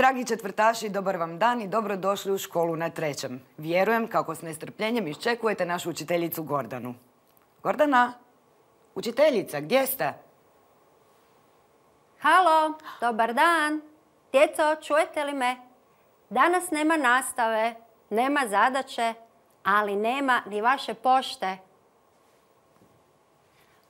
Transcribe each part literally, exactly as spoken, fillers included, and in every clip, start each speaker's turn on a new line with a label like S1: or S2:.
S1: Dragi četvrtaši, dobar vam dan i dobrodošli u školu na trećem. Vjerujem kako s nestrpljenjem iščekujete našu učiteljicu Gordanu. Gordana, učiteljica, gdje ste?
S2: Halo, dobar dan. Djeco, čujete li me? Danas nema nastave, nema zadaće, ali nema ni vaše pošte.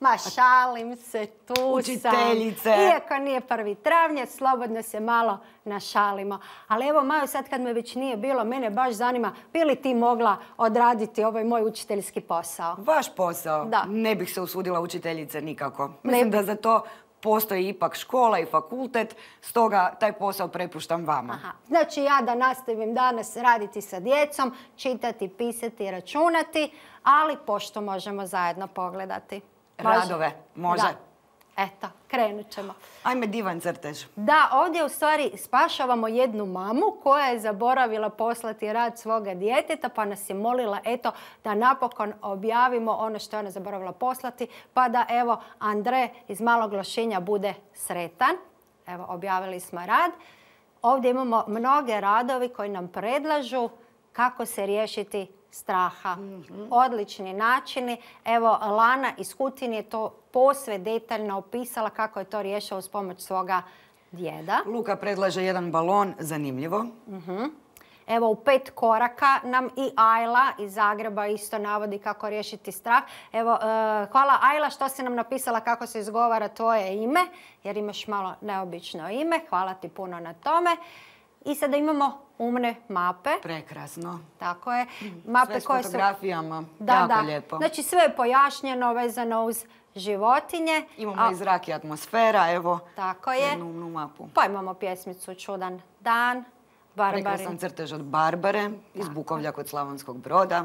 S2: Ma šalim se, tu sam.
S1: Učiteljice.
S2: Iako nije prvi travnja, slobodno se malo našalimo. Ali evo, Maju, sad kad me već nije bilo, mene baš zanima, bi li ti mogla odraditi ovaj moj učiteljski posao?
S1: Vaš posao?
S2: Da.
S1: Ne bih se usudila učiteljice nikako. Mislim da za to postoji ipak škola i fakultet, stoga taj posao prepuštam vama.
S2: Aha. Znači ja da nastavim danas raditi sa djecom, čitati, pisati, računati, ali pošto možemo zajedno pogledati. Može?
S1: Radove, može.
S2: Da. Eto, krenut ćemo.
S1: Ajme, divan crtež.
S2: Da, ovdje u stvari spašavamo jednu mamu koja je zaboravila poslati rad svoga djeteta, pa nas je molila, eto, da napokon objavimo ono što je ona zaboravila poslati, pa da, evo, Andre iz Malog Lošinja bude sretan. Evo, objavili smo rad. Ovdje imamo mnoge radovi koji nam predlažu kako se riješiti straha. Mm-hmm. Odlični načini. Evo, Lana iz Kutine je to posve detaljno opisala kako je to riješila uz pomoć svoga djeda.
S1: Luka predlaže jedan balon, zanimljivo.
S2: Mm-hmm. Evo, u pet koraka nam i Ajla iz Zagreba isto navodi kako riješiti strah. Evo, uh, hvala Ajla što si nam napisala kako se izgovara tvoje ime, jer imaš malo neobično ime. Hvala ti puno na tome. I sada imamo umne mape.
S1: Prekrasno.
S2: Tako je. Mape
S1: sve s
S2: koje
S1: fotografijama.
S2: Su... Da,
S1: jako
S2: da.
S1: lijepo.
S2: Znači sve je pojašnjeno vezano uz životinje.
S1: Imamo A... i zrak i atmosfera, evo.
S2: Tako je.
S1: Jednu umnu mapu.
S2: Pa imamo pjesmicu Čudan dan. Barbari.
S1: Prekrasan crtež od Barbare iz Bukovlja kod Slavonskog Broda.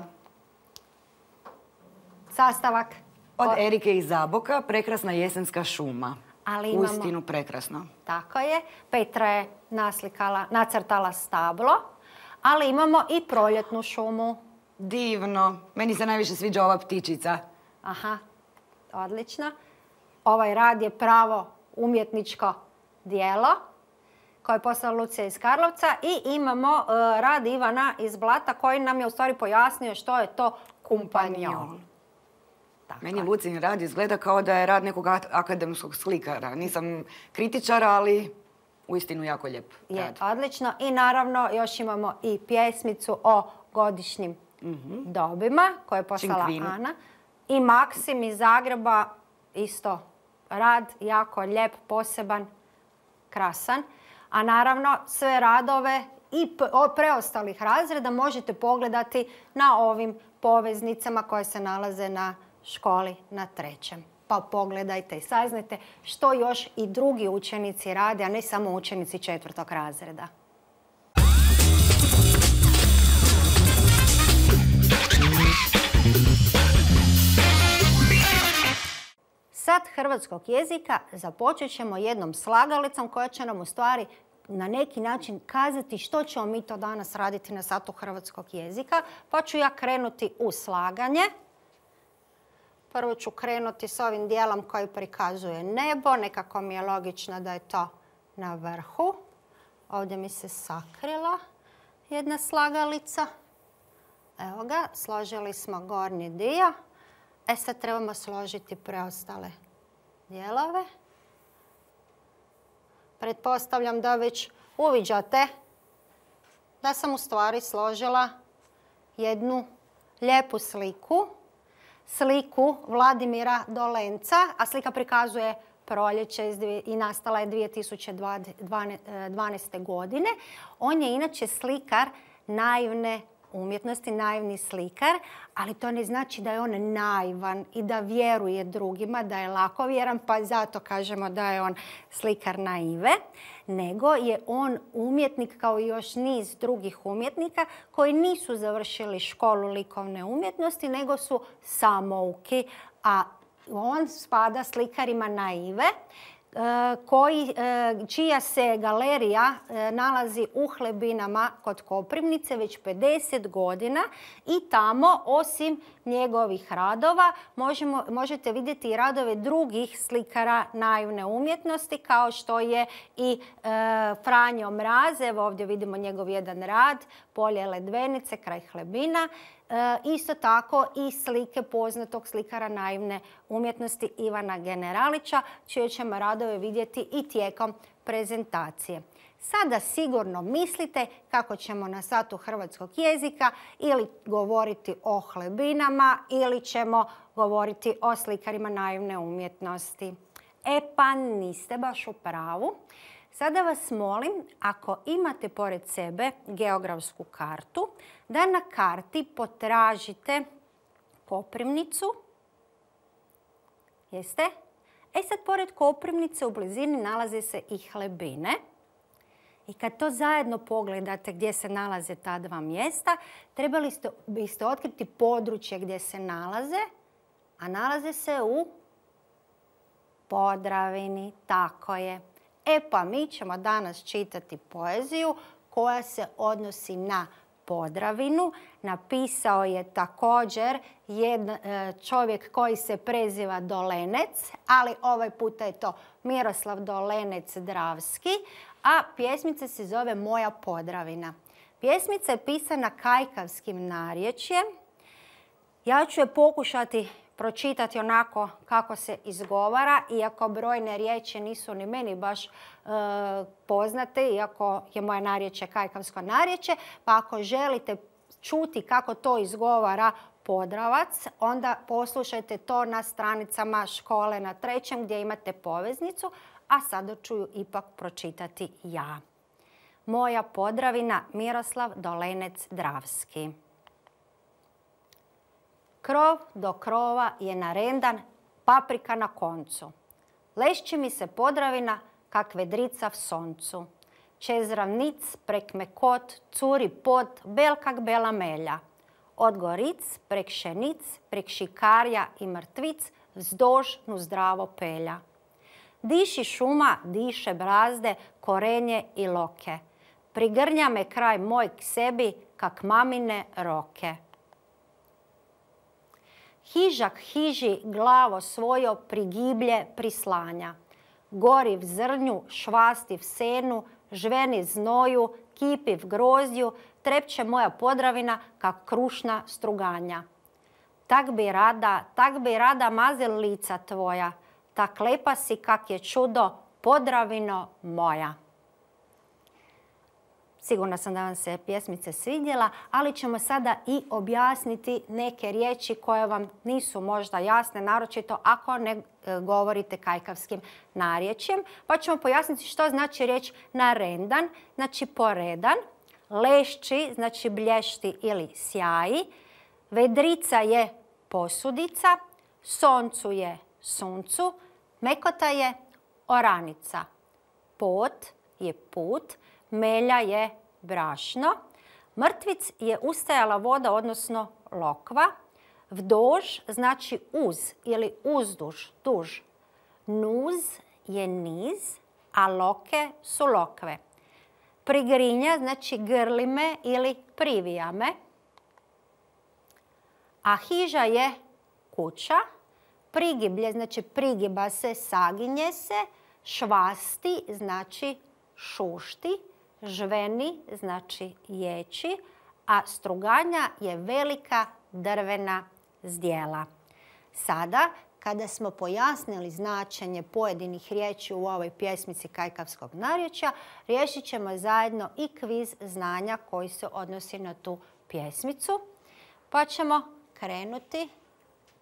S2: Sastavak.
S1: Od Erike iz Zaboka, prekrasna jesenska šuma.
S2: Ali imamo...
S1: Uistinu prekrasno.
S2: Tako je. Petra je naslikala, nacrtala stablo, ali imamo i proljetnu šumu.
S1: Divno. Meni se najviše sviđa ova ptičica.
S2: Aha, odlično. Ovaj rad je pravo umjetničko djelo koje je poslala Lucija iz Karlovca i imamo uh, rad Ivana iz Blata koji nam je u stvari pojasnio što je to kumpanjon.
S1: Tako. Meni Lucin rad izgleda kao da je rad nekog akademskog slikara. Nisam kritičara, ali uistinu jako lijep
S2: je,
S1: rad.
S2: Odlično. I naravno još imamo i pjesmicu o godišnjim mm-hmm. dobima koju je poslala
S1: Činkvinu. Ana.
S2: I Maksim iz Zagreba isto rad jako lijep, poseban, krasan. A naravno sve radove i preostalih razreda možete pogledati na ovim poveznicama koje se nalaze na školi na trećem. Pa pogledajte i saznajte što još i drugi učenici rade, a ne samo učenici četvrtog razreda. Sat hrvatskog jezika započet ćemo jednom slagalicom koja će nam u stvari na neki način kazati što ćemo mi to danas raditi na satu hrvatskog jezika. Pa ću ja krenuti u slaganje. Prvo ću krenuti s ovim dijelom koji prikazuje nebo. Nekako mi je logično da je to na vrhu. Ovdje mi se sakrila jedna slagalica. Evo ga, složili smo gornji dio. E sad trebamo složiti preostale dijelove. Pretpostavljam da već uviđate da sam u stvari složila jednu lijepu sliku. Sliku Vladimira Dolenca, a slika prikazuje proljeće i nastala je dvije tisuće dvanaeste. godine. On je inače slikar naivne umjetnosti, naivni slikar, ali to ne znači da je on naivan i da vjeruje drugima, da je lakovjeran, pa zato kažemo da je on slikar naive, nego je on umjetnik kao i još niz drugih umjetnika koji nisu završili školu likovne umjetnosti, nego su samouki, a on spada slikarima naive, Koji, čija se galerija nalazi u Hlebinama kod Koprivnice već pedeset godina i tamo osim njegovih radova možemo, možete vidjeti i radove drugih slikara naivne umjetnosti, kao što je i e, Franjo Mraz. Evo ovdje vidimo njegov jedan rad, Polje ledvenice kraj Hlebina. E, isto tako i slike poznatog slikara naivne umjetnosti Ivana Generalića, čije ćemo radove vidjeti i tijekom prezentacije. Sada sigurno mislite kako ćemo na satu hrvatskog jezika ili govoriti o Hlebinama ili ćemo govoriti o slikarima naivne umjetnosti. E pa niste baš u pravu. Sada vas molim, ako imate pored sebe geografsku kartu, da na karti potražite Koprivnicu. Jeste? E sad, pored Koprivnice u blizini nalaze se i Hlebine. I kad to zajedno pogledate gdje se nalaze ta dva mjesta, trebali ste, biste otkriti područje gdje se nalaze, a nalaze se u Podravini. Tako je. E pa mi ćemo danas čitati poeziju koja se odnosi na Podravinu. Napisao je također jedan čovjek koji se preziva Dolenec, ali ovaj puta je to Miroslav Dolenec Dravski, a pjesmica se zove Moja Podravina. Pjesmica je pisana kajkavskim narječjem. Ja ću je pokušati pročitati onako kako se izgovara, iako brojne riječi nisu ni meni baš e, poznate, iako je moje narječje kajkavsko narječje, pa ako želite čuti kako to izgovara Podravac, onda poslušajte to na stranicama Škole na trećem gdje imate poveznicu, a sada ću ju ipak pročitati ja. Moja Podravina, Miroslav Dolenec Dravski. Krov do krova je narendan, paprika na koncu. Lešći mi se Podravina kak vedrica v soncu. Čez ravnic prek mekot curi pod bel kak bela melja. Od goric prek šenic, prek šikarja i mrtvic vzdož nu zdravo pelja. Diši šuma, diše brazde, korenje i loke. Prigrnja me kraj moj k sebi kak mamine roke. Hižak hiži glavo svojo prigiblje prislanja. Gori v zrnju, švasti v senu, žveni znoju, kipi v grozdju, trepće moja Podravina kak krušna struganja. Tak bi rada, tak bi rada mazil lica tvoja, tak lepa si kak je čudo, Podravino moja. Sigurna sam da vam se pjesmica svidjela, ali ćemo sada i objasniti neke riječi koje vam nisu možda jasne, naročito ako ne govorite kajkavskim narječjem. Pa ćemo pojasniti što znači riječ narendan, znači poredan, lešći, znači blješti ili sjaji, vedrica je posudica, soncu je suncu, mekota je oranica, pot je put, melja je brašno, mrtvic je ustajala voda, odnosno lokva, vdož znači uz ili uzduž, duž, nuz je niz, a loke su lokve. Prigrinja znači grli me ili privija me, a hiža je kuća, prigiblje znači prigiba se, saginje se, švasti znači šušti, žveni znači ječi, a struganja je velika drvena zdjela. Sada, kada smo pojasnili značenje pojedinih riječi u ovoj pjesmici kajkavskog narječja, riješit ćemo zajedno i kviz znanja koji se odnosi na tu pjesmicu, pa ćemo krenuti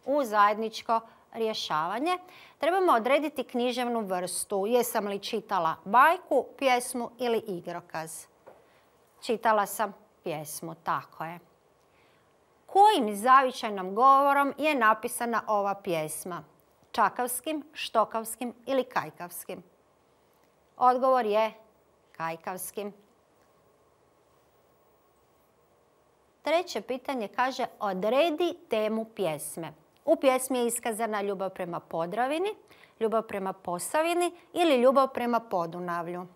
S2: u zajedničko rješavanje. Trebamo odrediti književnu vrstu. Jesam li čitala bajku, pjesmu ili igrokaz? Čitala sam pjesmu, tako je. Kojim zavičajnim govorom je napisana ova pjesma? Čakavskim, štokavskim ili kajkavskim? Odgovor je kajkavskim. Treće pitanje kaže odredi temu pjesme. U pjesmi je iskazana ljubav prema Podravini, ljubav prema Posavini ili ljubav prema Podunavlju.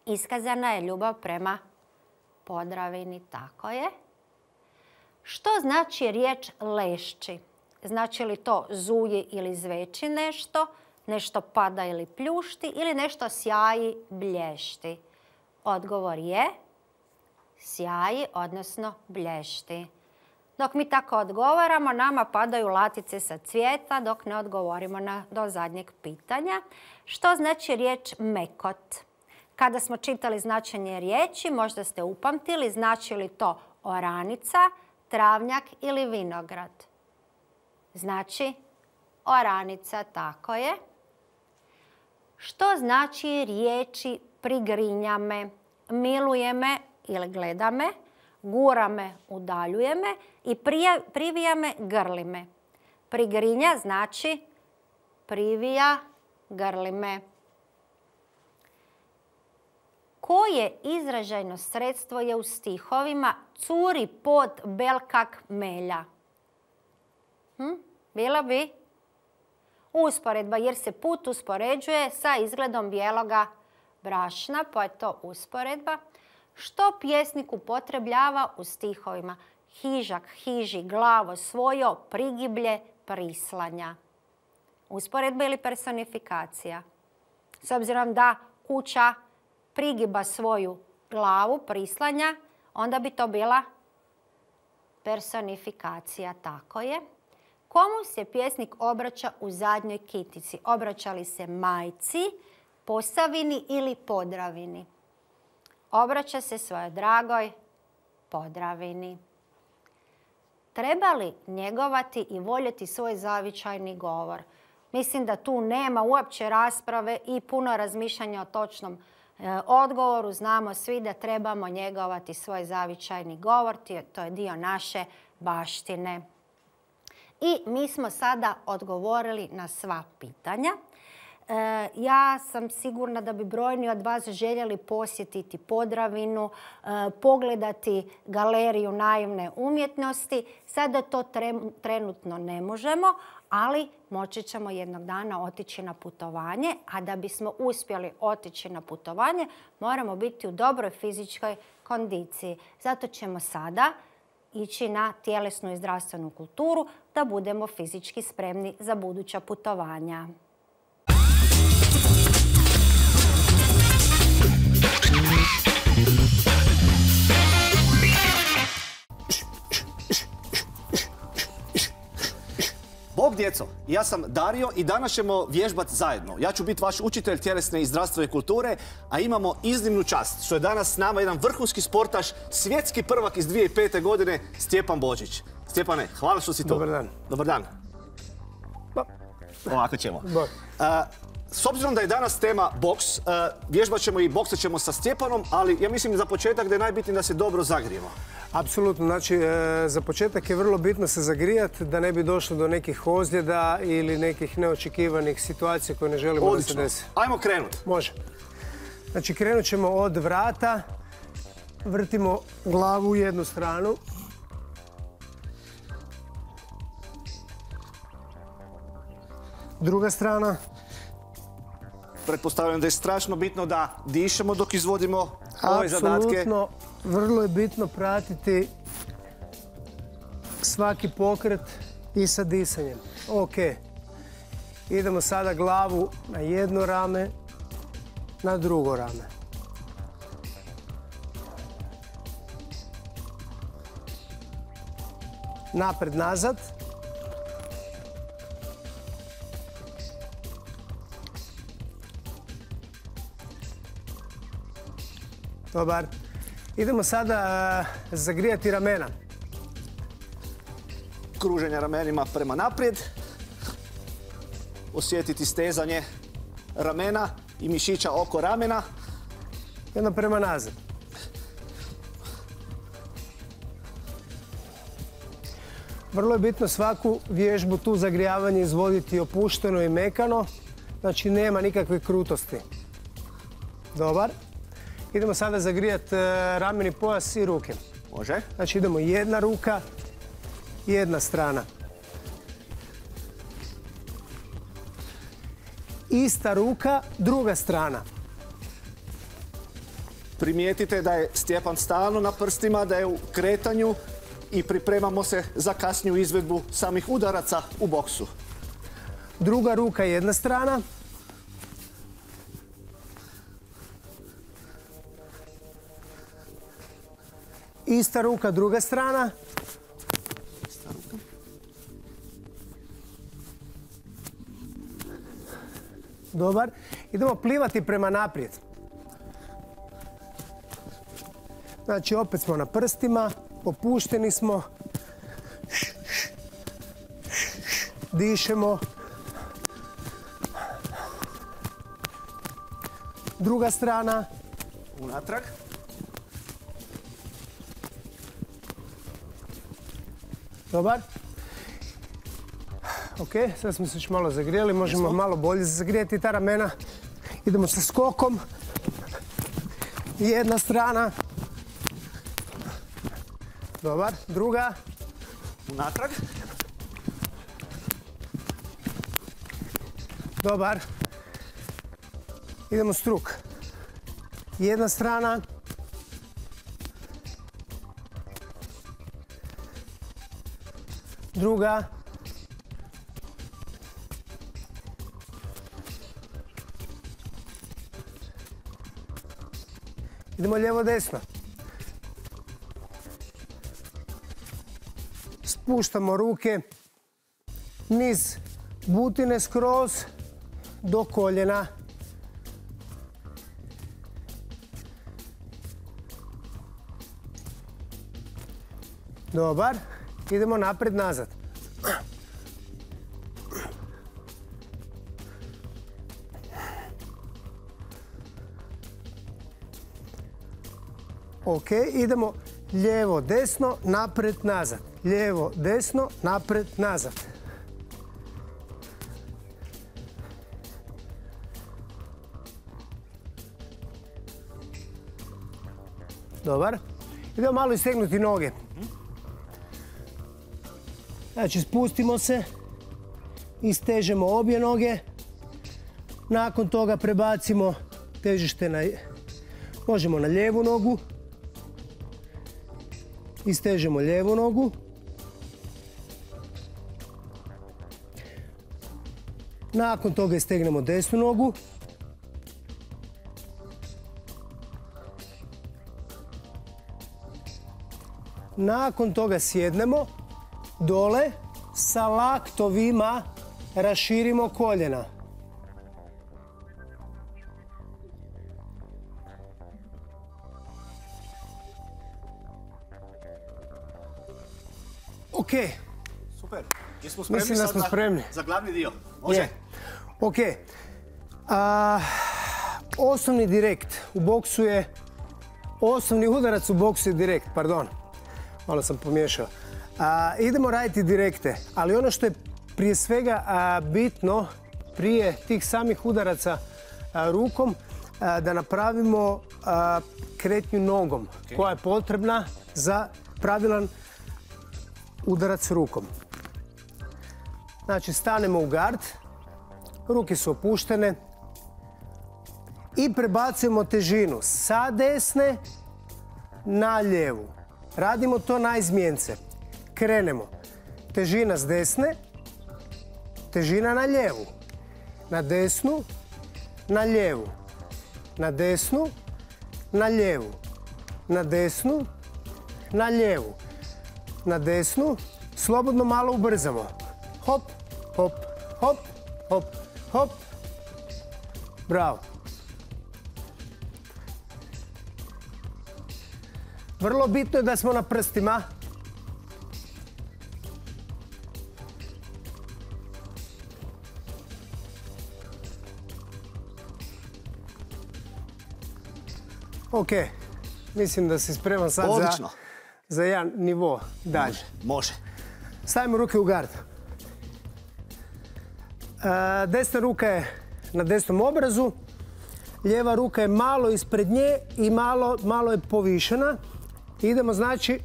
S2: Iskazana je ljubav prema Podravini, tako je. Što znači riječ lešći? Znači li to zuje ili zveči nešto, nešto pada ili pljušti ili nešto sjaji, blješti? Odgovor je sjaji, odnosno blješti. Dok mi tako odgovaramo, nama padaju latice sa cvijeta dok ne odgovorimo na, do zadnjeg pitanja. Što znači riječ mekot? Kada smo čitali značenje riječi, možda ste upamtili, znači li to oranica, travnjak ili vinograd? Znači oranica, tako je. Što znači riječi prigrinja me, miluje me ili gleda me, gura me, udaljuje me i prija, privija me, grli me? Prigrinja znači privija, grli me. Koje izražajno sredstvo je u stihovima curi pod belkak melja? Hm? Bilo bi usporedba jer se put uspoređuje sa izgledom bijeloga brašna, pa je to usporedba. Što pjesnik upotrebljava u stihovima? Hižak, hiži, glavo, svojo, prigiblje, prislanja. Usporedba ili personifikacija? S obzirom da kuća prigiba svoju glavu, prislanja, onda bi to bila personifikacija, tako je. Komu se pjesnik obraća u zadnjoj kitici? Obraća li se majci, Posavini ili Podravini? Obraća se svojoj dragoj Podravini. Treba li njegovati i voljeti svoj zavičajni govor? Mislim da tu nema uopće rasprave i puno razmišljanja o točnom e, odgovoru. Znamo svi da trebamo njegovati svoj zavičajni govor. To je dio naše baštine. I mi smo sada odgovorili na sva pitanja. E, ja sam sigurna da bi brojni od vas željeli posjetiti Podravinu, e, pogledati galeriju naivne umjetnosti. Sada to tre, trenutno ne možemo, ali moći ćemo jednog dana otići na putovanje, a da bismo uspjeli otići na putovanje moramo biti u dobroj fizičkoj kondiciji. Zato ćemo sada ići na tjelesnu i zdravstvenu kulturu da budemo fizički spremni za buduća putovanja.
S3: Bog djeco, ja sam Dario i danas ćemo vježbati zajedno. Ja ću biti vaš učitelj tjelesne i zdravstvene kulture, a imamo iznimnu čast što je danas s nama jedan vrhunski sportaš, svjetski prvak iz dvije tisuće pete. godine, Stjepan Božić. Stjepane, hvala što si tu.
S4: Dobar dan.
S3: Dobar dan.
S4: Ba.
S3: Ovako ćemo.
S4: Ba.
S3: S obzirom da je danas tema boks, vježbat ćemo i boksat ćemo sa Stjepanom, ali ja mislim za početak da je najbitnije da se dobro zagrijemo.
S4: Apsolutno, znači za početak je vrlo bitno se zagrijati da ne bi došlo do nekih ozljeda ili nekih neočekivanih situacija koje ne želimo da se desi.
S3: Ajmo krenut.
S4: Može. Znači krenut ćemo od vrata, vrtimo glavu u jednu stranu. Druga strana.
S3: Pretpostavljam da je strašno bitno da dišemo dok izvodimo ove zadatke.
S4: Apsolutno, vrlo je bitno pratiti svaki pokret i sa disanjem. Ok. Idemo sada glavu na jedno rame, na drugo rame. Napred, nazad. Dobar. Idemo sada zagrijati ramena.
S3: Kruženje ramenima prema naprijed. Osjetiti stezanje ramena i mišića oko ramena.
S4: Jedno prema nazad. Vrlo je bitno svaku vježbu tu zagrijavanje izvoditi opušteno i mekano. Znači nema nikakve krutosti. Dobar. Idemo sada zagrijati rameni pojas i ruke.
S3: Može.
S4: Znači idemo jedna ruka, jedna strana. Ista ruka, druga strana.
S3: Primijetite da je Stjepan stalno na prstima, da je u kretanju i pripremamo se za kasniju izvedbu samih udaraca u boksu.
S4: Druga ruka jedna strana. Ista ruka druga strana. Dobar. Idemo plivati prema naprijed. Znači, opet smo na prstima, opušteni smo. Dišemo. Druga strana.
S3: Unatrag.
S4: Dobar. Ok, sad smo se još malo zagrijeli, možemo malo bolje zagrijeti ta ramena. Idemo sa skokom. Jedna strana. Dobar, druga.
S3: Unatrag.
S4: Dobar. Idemo struk. Jedna strana. Druga. Idemo lijevo desno. Spuštamo ruke niz butine skroz do koljena. Dobar. Idemo napred nazad. Ok, idemo lijevo, desno, napred, nazad. Lijevo, desno, napred, nazad. Dobar. Idemo malo istegnuti noge. Znači, spustimo se, istežemo obje noge. Nakon toga prebacimo težište na, možemo na lijevu nogu. Istežemo lijevu nogu. Nakon toga istegnemo desnu nogu. Nakon toga sjednemo dole, sa laktovima raširimo koljena. Ok.
S3: Super. Jesmo spremni
S4: Mislim da smo
S3: sad
S4: spremni.
S3: za glavni dio? Može?
S4: Je. Ok. A, osnovni direkt u boksu je, osnovni udarac u boksu je direkt, pardon. Malo sam pomiješao. A, idemo raditi direkte, ali ono što je prije svega a, bitno prije tih samih udaraca a, rukom, a, da napravimo a, kretnju nogom, okay, koja je potrebna za pravilan udarac rukom. Znači, stanemo u gard, ruke su opuštene i prebacujemo težinu sa desne na lijevu. Radimo to na izmjence. Krenemo. Težina s desne, težina na lijevu. Na desnu, na lijevu. Na desnu, na lijevu. Na desnu, na lijevu. Na desnu, slobodno malo ubrzamo. Hop, hop, hop, hop, hop. Bravo. Vrlo bitno je da smo na prstima. Ok, mislim da si spreman sad za, za jedan nivo dalje.
S3: Može, može.
S4: Stavimo ruke u gard. E, desna ruka je na desnom obrazu, lijeva ruka je malo ispred nje i malo, malo je povišena. Idemo, znači,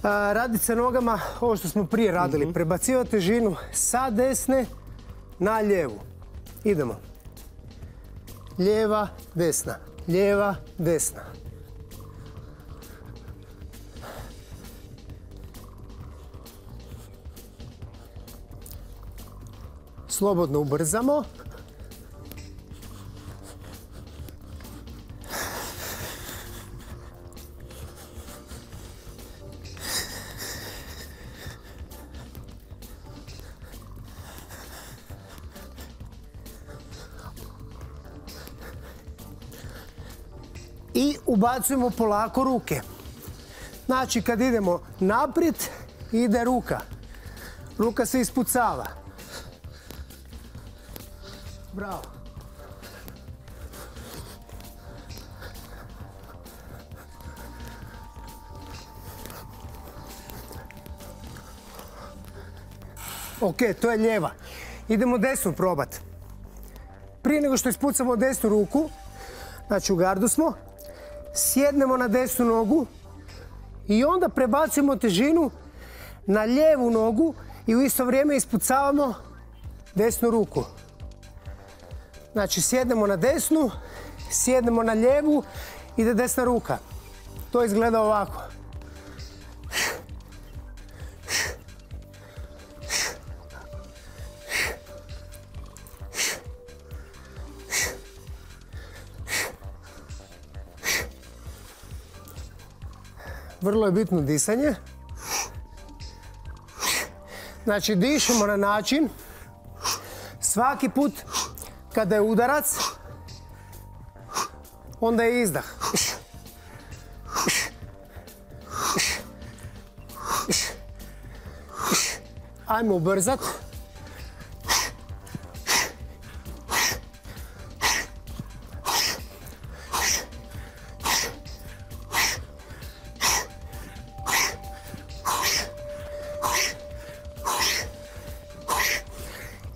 S4: raditi sa nogama ovo što smo prije radili. Mm-hmm. Prebacivati težinu sa desne na lijevu. Idemo. Lijeva, desna. Lijeva, desna. slobodno ubrzamo. I ubacujemo polako ruke. Znači, kad idemo naprijed, ide ruka. Ruka se ispucava. Bravo. Ok, to je lijeva. Idemo desnu probati. Prije nego što ispucamo desnu ruku, znači u gardu smo, sjednemo na desnu nogu i onda prebacujemo težinu na lijevu nogu i u isto vrijeme ispucavamo desnu ruku. Znači sjednemo na desnu, sjednemo na lijevu, ide desna ruka. To izgleda ovako. Vrlo je bitno disanje. Znači, dišemo na način svaki put kada je udarac, onda je izdah. Ajmo ubrzat.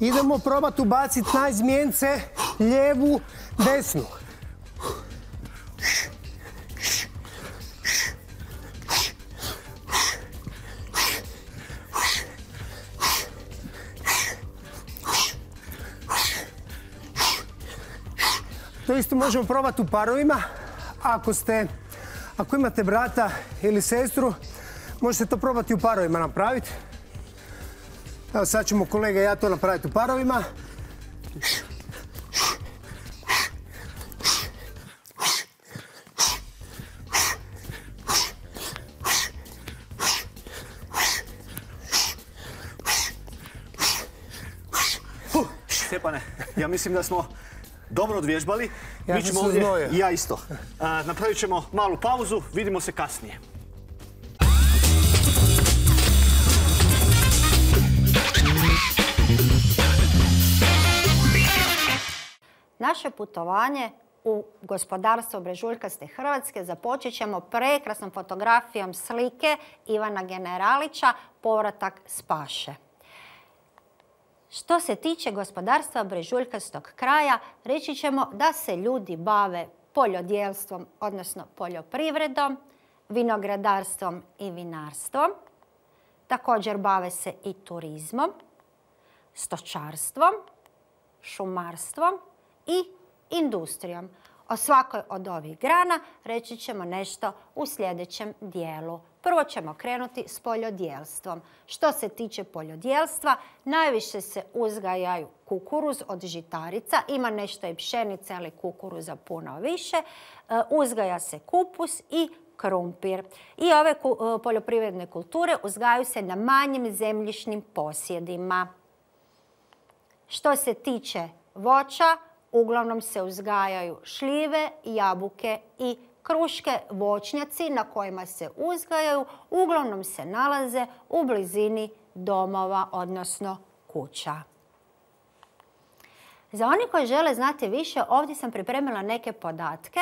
S4: Idemo probati ubaciti na izmjence lijevu, desnu. To isto možemo probati u parovima. Ako ste, ako imate brata ili sestru, možete to probati u parovima napraviti. Evo sad ćemo kolega i ja to napraviti u parovima.
S3: Stjepane, ja mislim da smo dobro odvježbali.
S4: Ja
S3: Mi
S4: sam
S3: ćemo
S4: se
S3: ovdje,
S4: uznojio.
S3: i ja isto. A, napravit ćemo malu pauzu, vidimo se kasnije.
S2: Naše putovanje u gospodarstvo Brežuljkaste Hrvatske započet ćemo prekrasnom fotografijom slike Ivana Generalića, Povratak s paše. Što se tiče gospodarstva Brežuljkastog kraja, reći ćemo da se ljudi bave poljodjelstvom, odnosno poljoprivredom, vinogradarstvom i vinarstvom. Također bave se i turizmom, stočarstvom, šumarstvom i industrijom. O svakoj od ovih grana reći ćemo nešto u sljedećem dijelu. Prvo ćemo krenuti s poljodjelstvom. Što se tiče poljodjelstva, najviše se uzgajaju kukuruz od žitarica. Ima nešto i pšenice, ali kukuruza puno više. Uzgaja se kupus i krumpir. I ove poljoprivredne kulture uzgajaju se na manjim zemljišnim posjedima. Što se tiče voća, uglavnom se uzgajaju šljive, jabuke i kruške. Voćnjaci na kojima se uzgajaju uglavnom se nalaze u blizini domova, odnosno kuća. Za oni koji žele znati više, ovdje sam pripremila neke podatke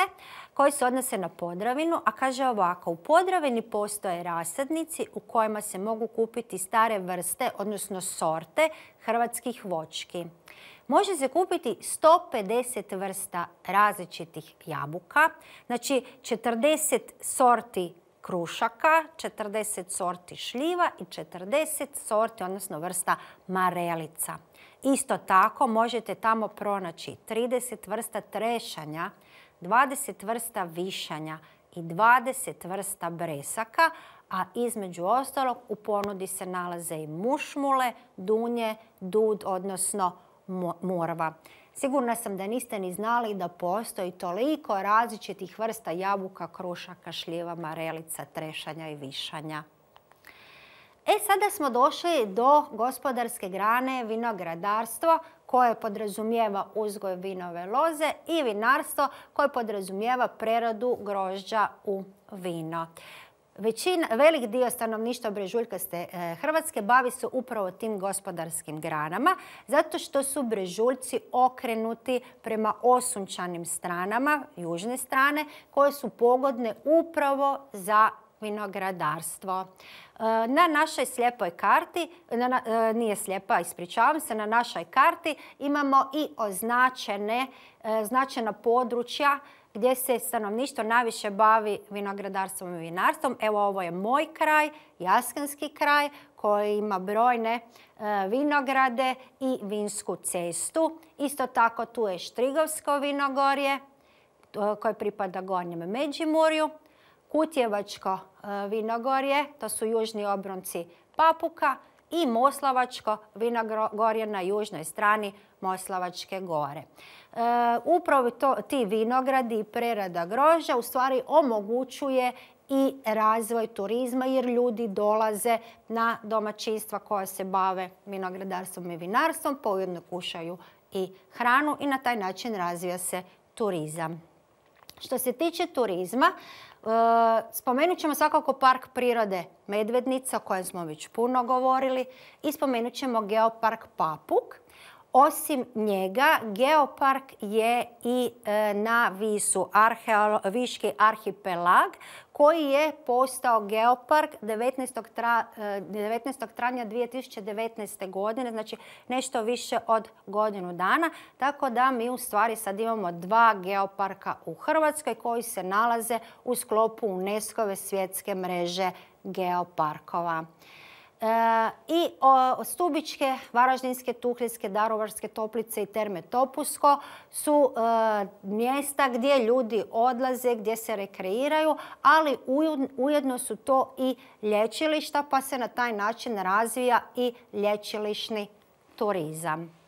S2: koji se odnose na Podravinu, a kaže ovako: u Podravini postoje rasadnici u kojima se mogu kupiti stare vrste, odnosno sorte hrvatskih voćki. Može se kupiti sto pedeset vrsta različitih jabuka, znači četrdeset sorti krušaka, četrdeset sorti šljiva i četrdeset sorti, odnosno vrsta marelica. Isto tako možete tamo pronaći trideset vrsta trešanja, dvadeset vrsta višanja i dvadeset vrsta bresaka, a između ostalog u ponudi se nalaze i mušmule, dunje, dud, odnosno Morva. Sigurna sam da niste ni znali da postoji toliko različitih vrsta jabuka, krušaka, šljiva, marelica, trešanja i višanja. E, sada smo došli do gospodarske grane vinogradarstvo koje podrazumijeva uzgoj vinove loze i vinarstvo koje podrazumijeva preradu grožđa u vino. Većina, velik dio stanovništva brežuljkaste Hrvatske bavi se upravo tim gospodarskim granama, zato što su brežuljci okrenuti prema osunčanim stranama, južne strane, koje su pogodne upravo za vinogradarstvo. Na našoj slijepoj karti, na, nije slijepa, ispričavam se, na našoj karti imamo i označene, značajna područja gdje se stanovništvo najviše bavi vinogradarstvom i vinarstvom. Evo, ovo je moj kraj, Jaskanski kraj, koji ima brojne vinograde i vinsku cestu. Isto tako tu je Štrigovsko vinogorje koje pripada Gornjem Međimurju, Kutjevačko vinogorje, to su južni obronci Papuka, i Moslavačko vinogorje na južnoj strani Moslavačke gore. E, upravo to, ti vinogradi i prerada grožđa u stvari omogućuje i razvoj turizma jer ljudi dolaze na domaćinstva koja se bave vinogradarstvom i vinarstvom, pa ujedno kušaju i hranu i na taj način razvija se turizam. Što se tiče turizma, spomenut ćemo svakako park prirode Medvednica o kojem smo već puno govorili i spomenut ćemo geopark Papuk. Osim njega, geopark je i na Visu, Viški arhipelag, koji je postao geopark devetnaestog travnja dvije tisuće devetnaeste. godine, znači nešto više od godinu dana. Tako da mi u stvari sad imamo dva geoparka u Hrvatskoj koji se nalaze u sklopu UNESCO-ve svjetske mreže geoparkova. E, I o, Stubičke, Varaždinske, Tuhljske, Daruvarske toplice i Terme Topusko su e, mjesta gdje ljudi odlaze, gdje se rekreiraju, ali ujedno su to i lječilišta, pa se na taj način razvija i lječilišni turizam.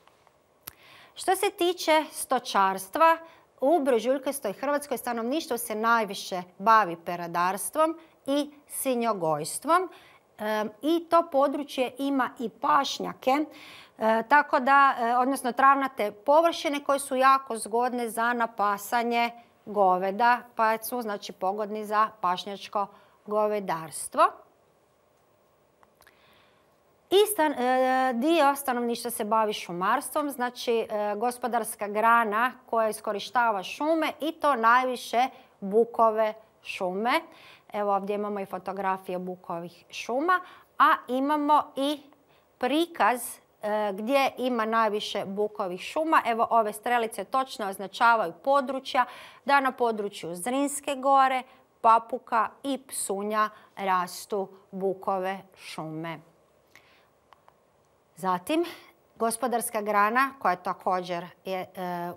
S2: Što se tiče stočarstva, u brežuljkastoj Hrvatskoj stanovništvo se najviše bavi peradarstvom i svinjogojstvom. I to područje ima i pašnjake, tako da, odnosno travnate površine koje su jako zgodne za napasanje goveda, pa su znači pogodni za pašnjačko govedarstvo. I stan, dio stanovništva se bavi šumarstvom, znači gospodarska grana koja iskorištava šume i to najviše bukove šume. Evo ovdje imamo i fotografije bukovih šuma, a imamo i prikaz e, gdje ima najviše bukovih šuma. Evo ove strelice točno označavaju područja da na području Zrinske gore, Papuka i Psunja rastu bukove šume. Zatim, gospodarska grana koja također je e,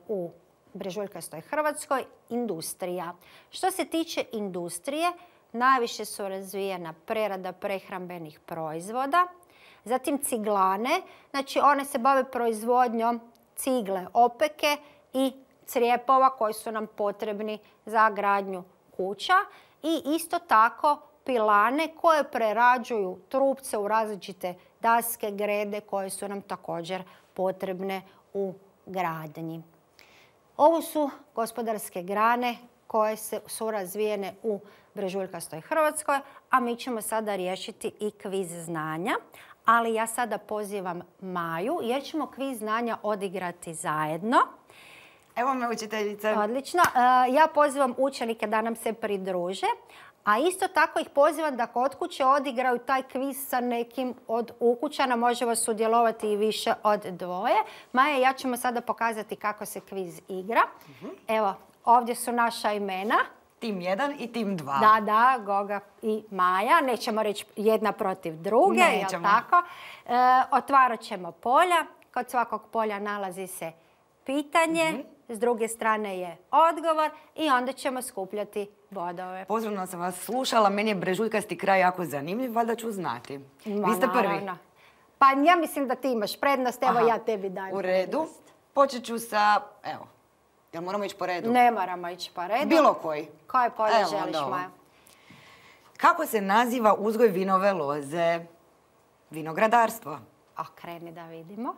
S2: u brežuljkastoj Hrvatskoj, industrija. Što se tiče industrije, najviše su razvijena prerada prehrambenih proizvoda, zatim ciglane, znači one se bave proizvodnjom cigle, opeke i crijepova koji su nam potrebni za gradnju kuća i isto tako pilane koje prerađuju trupce u različite daske, grede koje su nam također potrebne u gradnji. Ovo su gospodarske grane koje su razvijene u brežuljkastoj Hrvatskoj, a mi ćemo sada riješiti i kviz znanja. Ali ja sada pozivam Maju jer ćemo kviz znanja odigrati zajedno.
S1: Evo me, učiteljice.
S2: Odlično. Ja pozivam učenike da nam se pridruže, a isto tako ih pozivam da kod kuće odigraju taj kviz sa nekim od ukućana. Može vas sudjelovati i više od dvoje. Maja, ja ćemo sada pokazati kako se kviz igra. Uh-huh. Evo, ovdje su naša imena.
S1: Tim jedan i tim dva.
S2: Da, da, Goga i Maja. Nećemo reći jedna protiv druge, jel tako? E, otvarat ćemo polja. Kod svakog polja nalazi se pitanje. Uh-huh. S druge strane je odgovor i onda ćemo skupljati bodove.
S1: Pozorno sam vas slušala, meni je brežuljkasti kraj jako zanimljiv, valjda ću znati.
S2: Ma,
S1: Vi ste prvi.
S2: Naravno. Pa ja mislim da ti imaš prednost, evo
S1: Aha,
S2: ja tebi dajem
S1: u redu.
S2: prednost.
S1: Počet ću sa, evo, jel moramo ići po redu?
S2: Ne moramo ići po redu.
S1: Bilo koji.
S2: Koje polje
S1: Evo,
S2: želiš,
S1: onda ovo.
S2: Maja?
S1: Kako se naziva uzgoj vinove loze? Vinogradarstvo.
S2: Okreni da vidimo.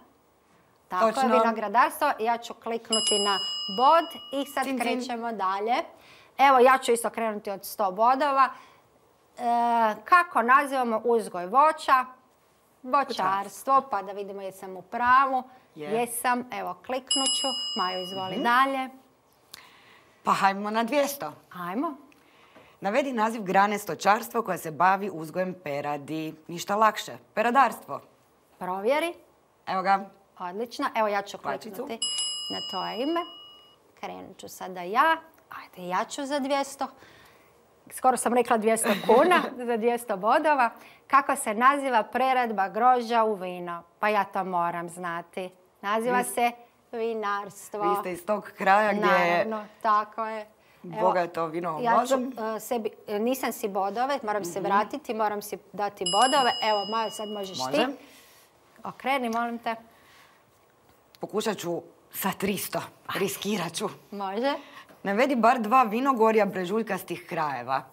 S2: Tako
S1: Točno.
S2: je, vinogradarstvo. Ja ću kliknuti na bod i sad
S1: Cin, cin.
S2: krećemo dalje. Evo, ja ću isto krenuti od sto bodova. E, kako nazivamo uzgoj voća? Voćarstvo, pa da vidimo jesam u pravu.
S1: Je.
S2: Jesam, evo kliknut ću. Majo, izvoli dalje.
S1: Pa hajmo na dvjesto.
S2: Ajmo.
S1: Navedi naziv grane stočarstva koja se bavi uzgojem peradi. Ništa lakše. Peradarstvo.
S2: Provjeri.
S1: Evo ga.
S2: Odlično. Evo ja ću
S1: Kvačicu.
S2: kliknuti na tvoje ime. Krenut ću sada ja. Ajde, ja ću za dvjesto. Skoro sam rekla dvjesto kuna za dvjesto bodova. Kako se naziva preradba grožđa u vino? Pa ja to moram znati. Naziva se vinarstvo.
S1: Vi ste iz tog kraja gdje je
S2: Naravno, tako je.
S1: bogato vinovom
S2: Ja ću
S1: lozom.
S2: uh, sebi, nisam si bodove, moram se vratiti, moram si dati bodove. Evo, Majo, sad možeš
S1: Može.
S2: ti. Okreni, molim te.
S1: Pokušat ću sa tristo. Riskirat ću.
S2: Može.
S1: Navedi bar dva vinogorja brežuljkastih krajeva.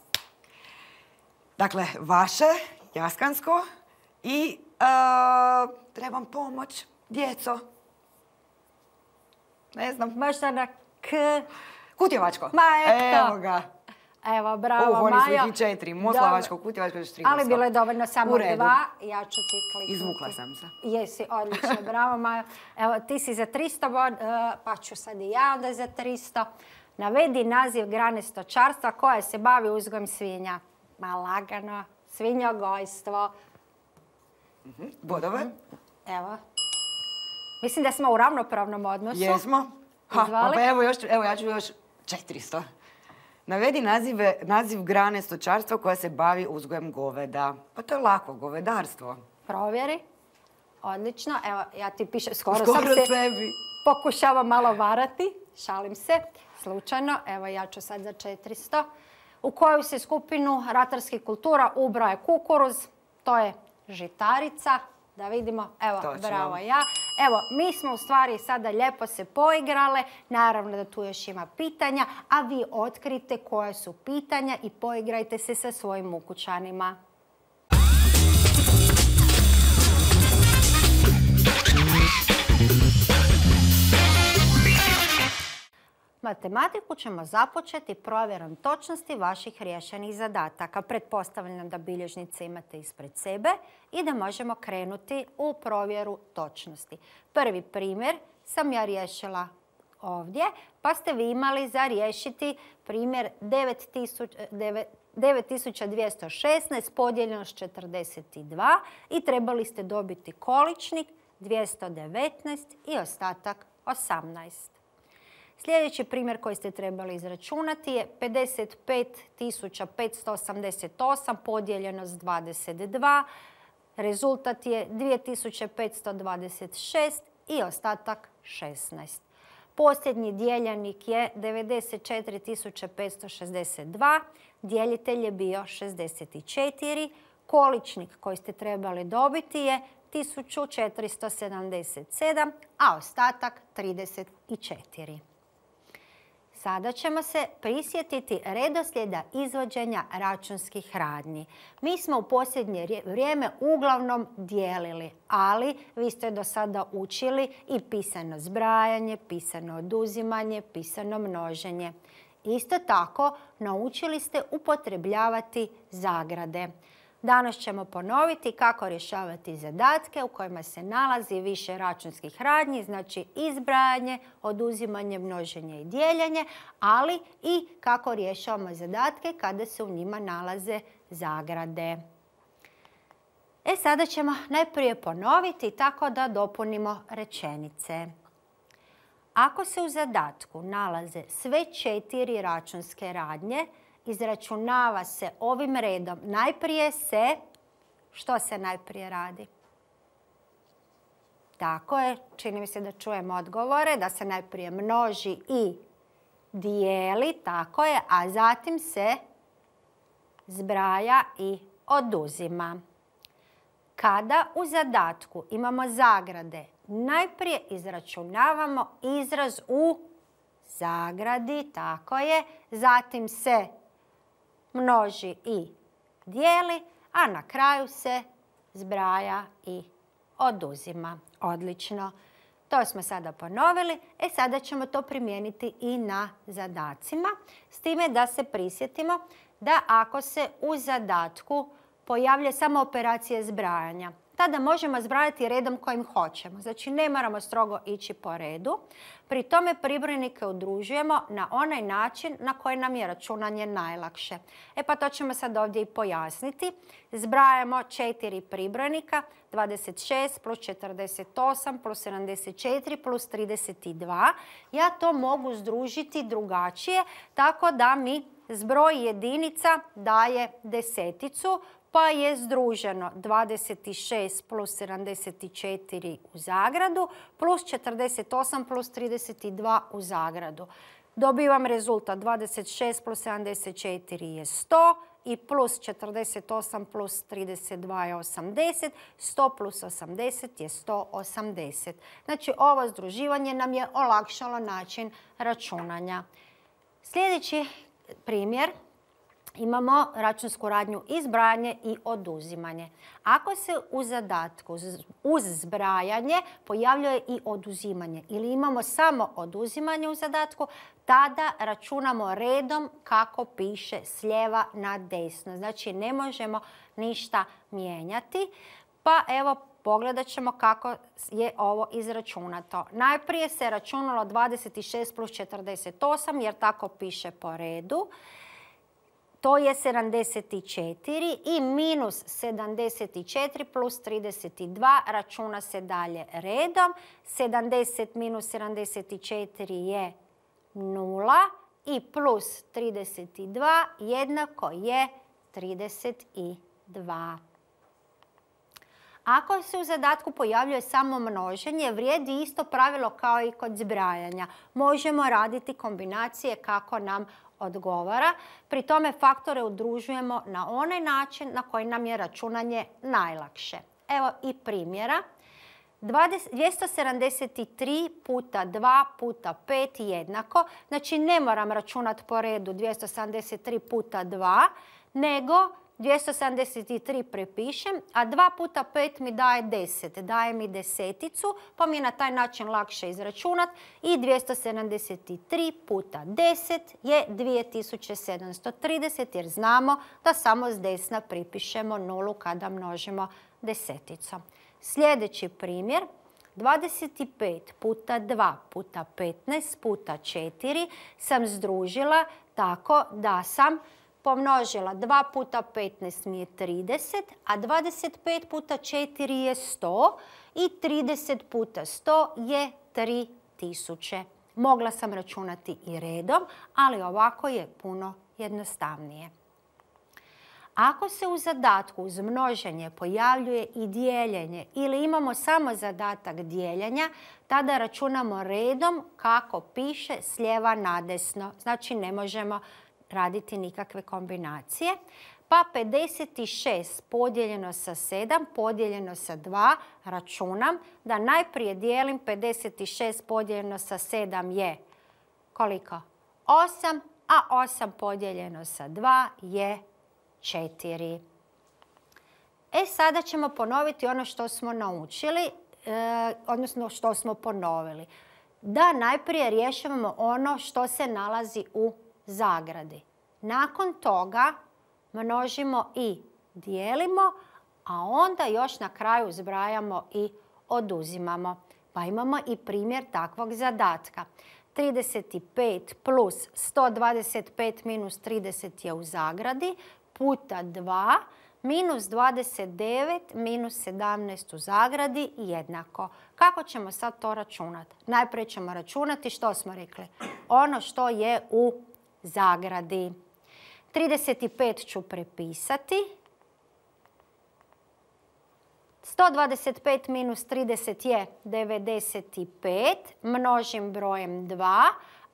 S1: Dakle, vaše, Jaskansko i uh, trebam pomoć, djeco. Ne znam.
S2: Možda na K.
S1: Kutjevačko.
S2: Ma eto.
S1: Evo ga.
S2: Evo, bravo,
S1: Uh, oni su
S2: Majo.
S1: ih i četiri.
S2: Dobro.
S1: Moslavačko, Kutjevačko i Štrigorsko.
S2: Ali bilo je dovoljno samo
S1: U redu.
S2: dva. Ja ću ti kliknuti.
S1: Izvukla sam se.
S2: Jesi, odlično, bravo Majo. Evo, ti si za tristo bod, eh, pa ću sad i ja onda za tristo. Navedi naziv grane stočarstva koja se bavi uzgojem svinja. Ma lagano, svinjogojstvo.
S1: Bodove.
S2: Evo. Mislim da smo u ravnopravnom odnosu.
S1: Jesmo. Ha,
S2: Izvoli.
S1: pa evo, još, evo ja ću još četiristo. Navedi nazive, naziv grane stočarstva koja se bavi uzgojem goveda. Pa to je lako, govedarstvo.
S2: Provjeri. Odlično. Evo, ja ti pišem, skoro,
S1: Skoro
S2: sam se
S1: sebi.
S2: pokušavam malo varati. Šalim se. Slučajno. Evo, ja ću sad za četiristo. U koju se skupinu ratarskih kultura ubraje kukuruz? To je žitarica. Da vidimo. Evo,
S1: Točno.
S2: bravo ja. Evo, mi smo u stvari sada lijepo se poigrale. Naravno da tu još ima pitanja, a vi otkrite koja su pitanja i poigrajte se sa svojim ukućanima. Matematiku ćemo započeti provjerom točnosti vaših riješenih zadataka. Pretpostavljam da bilježnice imate ispred sebe i da možemo krenuti u provjeru točnosti. Prvi primjer sam ja riješila ovdje, pa ste vi imali za riješiti primjer devet tisuća dvjesto šesnaest podijeljeno s četrdeset dva i trebali ste dobiti količnik dvjesto devetnaest i ostatak osamnaest. Sljedeći primjer koji ste trebali izračunati je pedeset pet tisuća petsto osamdeset osam podijeljeno s dvadeset dva. Rezultat je dvije tisuće petsto dvadeset šest i ostatak šesnaest. Posljednji dijeljenik je devedeset četiri tisuće petsto šezdeset dva. Dijelitelj je bio šezdeset četiri. Količnik koji ste trebali dobiti je tisuću četiristo sedamdeset sedam, a ostatak trideset četiri. Sada ćemo se prisjetiti redoslijeda izvođenja računskih radnji. Mi smo u posljednje vrijeme uglavnom dijelili, ali vi ste do sada učili i pisano zbrajanje, pisano oduzimanje, pisano množenje. Isto tako, naučili ste upotrebljavati zagrade. Danas ćemo ponoviti kako rješavati zadatke u kojima se nalazi više računskih radnji, znači izbrajanje, oduzimanje, množenje i dijeljenje, ali i kako rješavamo zadatke kada se u njima nalaze zagrade. E sada ćemo najprije ponoviti tako da dopunimo rečenice. Ako se u zadatku nalaze sve četiri računske radnje, izračunava se ovim redom. Najprije se, što se najprije radi? Tako je, čini mi se da čujem odgovore, da se najprije množi i dijeli, tako je, a zatim se zbraja i oduzima. Kada u zadatku imamo zagrade, najprije izračunavamo izraz u zagradi, tako je, zatim se množi i dijeli, a na kraju se zbraja i oduzima. Odlično. To smo sada ponovili. E sada ćemo to primijeniti i na zadacima. S time da se prisjetimo da ako se u zadatku pojavlja samo operacija zbrajanja, tada možemo zbrajati redom kojim hoćemo. Znači ne moramo strogo ići po redu. Pri tome pribrojnike udružujemo na onaj način na koji nam je računanje najlakše. E pa to ćemo sad ovdje i pojasniti. Zbrajamo četiri pribrojnika, dvadeset šest plus četrdeset osam plus sedamdeset četiri plus trideset dva. Ja to mogu združiti drugačije, tako da mi zbroj jedinica daje deseticu, pa je združeno dvadeset šest plus sedamdeset četiri u zagradu plus četrdeset osam plus trideset dva u zagradu. Dobivam rezultat dvadeset šest plus sedamdeset četiri je sto i plus četrdeset osam plus trideset dva je osamdeset. sto plus osamdeset je sto osamdeset. Znači ovo združivanje nam je olakšalo način računanja. Sljedeći primjer. Imamo računsku radnju i zbrajanje i oduzimanje. Ako se u zadatku uz zbrajanje pojavljuje i oduzimanje ili imamo samo oduzimanje u zadatku, tada računamo redom kako piše s lijeva na desno. Znači ne možemo ništa mijenjati. Pa evo pogledat ćemo kako je ovo izračunato. Najprije se računalo dvadeset šest plus četrdeset osam jer tako piše po redu. To je sedamdeset četiri i minus sedamdeset četiri plus trideset dva računa se dalje redom. sedamdeset minus sedamdeset četiri je nula i plus trideset dva jednako je trideset dva. Ako se u zadatku pojavljuje samo množenje, vrijedi isto pravilo kao i kod zbrajanja. Možemo raditi kombinacije kako nam odgovara. Pri tome faktore udružujemo na onaj način na koji nam je računanje najlakše. Evo i primjera. dvjesto sedamdeset tri puta dva puta pet jednako. Znači ne moram računati po redu dvjesto sedamdeset tri puta dva, nego dvjesto sedamdeset tri prepišem, a dva puta pet mi daje deset. Daje mi deseticu, pa mi je na taj način lakše izračunati. I dvjesto sedamdeset tri puta deset je dvije tisuće sedamsto trideset, jer znamo da samo s desna pripišemo nulu kada množimo deseticom. Sljedeći primjer. dvadeset pet puta dva puta petnaest puta četiri sam združila tako da sam pomnožila dva puta petnaest mi je trideset, a dvadeset pet puta četiri je sto i trideset puta sto je tri tisuće. Mogla sam računati i redom, ali ovako je puno jednostavnije. Ako se u zadatku uz množenje pojavljuje i dijeljenje ili imamo samo zadatak dijeljenja, tada računamo redom kako piše s lijeva na desno. Znači ne možemo raditi nikakve kombinacije. Pa pedeset šest podijeljeno sa sedam podijeljeno sa dva računam da najprije dijelim pedeset šest podijeljeno sa sedam je koliko? osam, a osam podijeljeno sa dva je četiri. E sada ćemo ponoviti ono što smo naučili, e, odnosno što smo ponovili. Da najprije rješavamo ono što se nalazi u zagradi. Nakon toga množimo i dijelimo, a onda još na kraju zbrajamo i oduzimamo. Pa imamo i primjer takvog zadatka. trideset pet plus sto dvadeset pet minus trideset je u zagradi, puta dva minus dvadeset devet minus sedamnaest u zagradi jednako. Kako ćemo sad to računati? Najprije ćemo računati što smo rekli. Ono što je u zagradi. trideset pet ću prepisati. sto dvadeset pet minus trideset je devedeset pet. Množim brojem dva.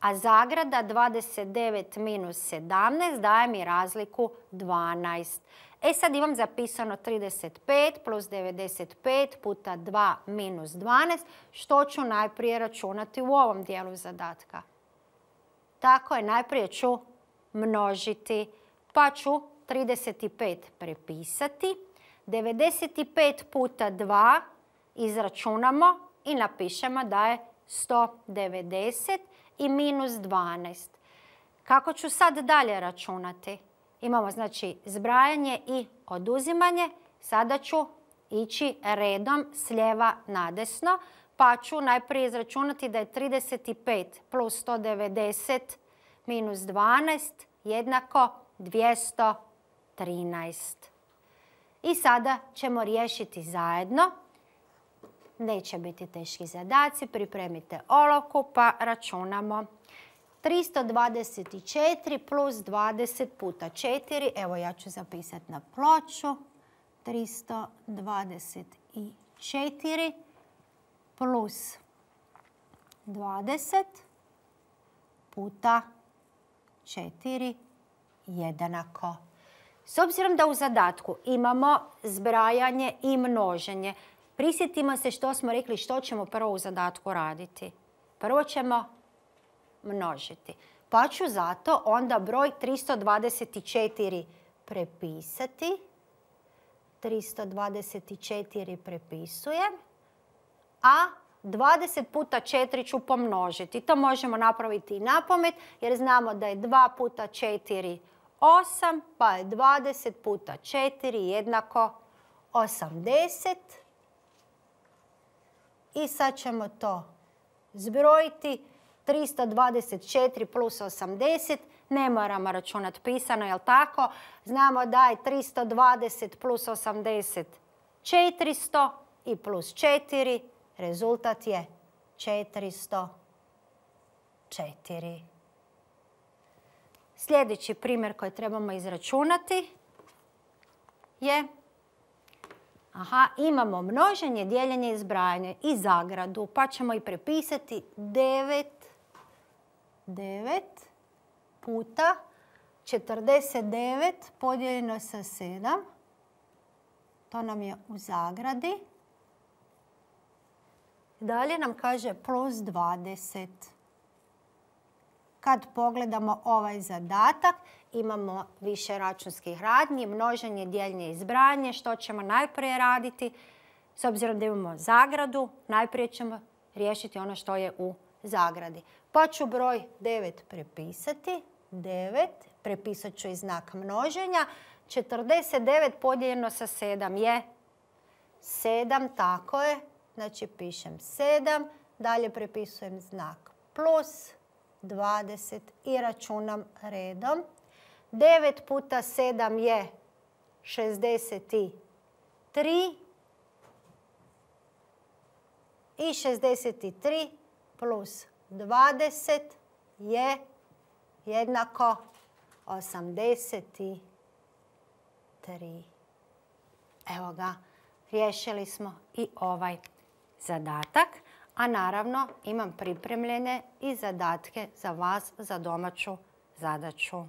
S2: A zagrada dvadeset devet minus sedamnaest daje mi razliku dvanaest. E sad imam zapisano trideset pet plus devedeset pet puta dva minus dvanaest, što ću najprije računati u ovom dijelu zadatka. Tako je, najprije ću množiti, pa ću trideset pet prepisati. devedeset pet puta dva izračunamo i napišemo da je sto devedeset i minus dvanaest. Kako ću sad dalje računati? Imamo znači zbrajanje i oduzimanje. Sada ću ići redom s lijeva na desno, pa ću najprije izračunati da je trideset pet plus sto devedeset minus dvanaest jednako dvjesto trinaest. I sada ćemo riješiti zajedno. Neće biti teški zadaci, pripremite olovku pa računamo. tristo dvadeset četiri plus dvadeset puta četiri, evo ja ću zapisati na ploču. tristo dvadeset četiri plus dvadeset puta četiri jednako. S obzirom da u zadatku imamo zbrajanje i množenje, prisjetimo se što smo rekli što ćemo prvo u zadatku raditi. Prvo ćemo množiti. Pa ću zato onda broj tristo dvadeset četiri prepisati. tristo dvadeset četiri prepisujem. A dvadeset puta četiri ću pomnožiti. To možemo napraviti i napamet jer znamo da je dva puta četiri osam, pa je dvadeset puta četiri jednako osamdeset. I sad ćemo to zbrojiti. tristo dvadeset četiri plus osamdeset, ne moramo računati pisano, jel tako? Znamo da je tristo dvadeset plus osamdeset četiristo i plus četiri, rezultat je četiristo četiri. Sljedeći primjer koji trebamo izračunati je, aha, imamo množenje, dijeljenje i zbrajanje i zagradu, pa ćemo i prepisati devet, devet puta četrdeset devet podijeljeno sa sedam. To nam je u zagradi. Dalje nam kaže plus dvadeset. Kad pogledamo ovaj zadatak, imamo više računskih radnji, množenje, dijeljenje i zbrajanje. Što ćemo najprije raditi? S obzirom da imamo zagradu, najprije ćemo riješiti ono što je u zagradi. Pa ću broj devet prepisati. devet, prepisat ću i znak množenja. četrdeset devet podijeljeno sa sedam je sedam, tako je. Znači pišem sedam, dalje prepisujem znak plus dvadeset i računam redom. devet puta sedam je šezdeset tri i šezdeset tri plus dvadeset je jednako osamdeset tri. Evo ga, riješili smo i ovaj zadatak. A naravno imam pripremljene i zadatke za vas za domaću zadaću.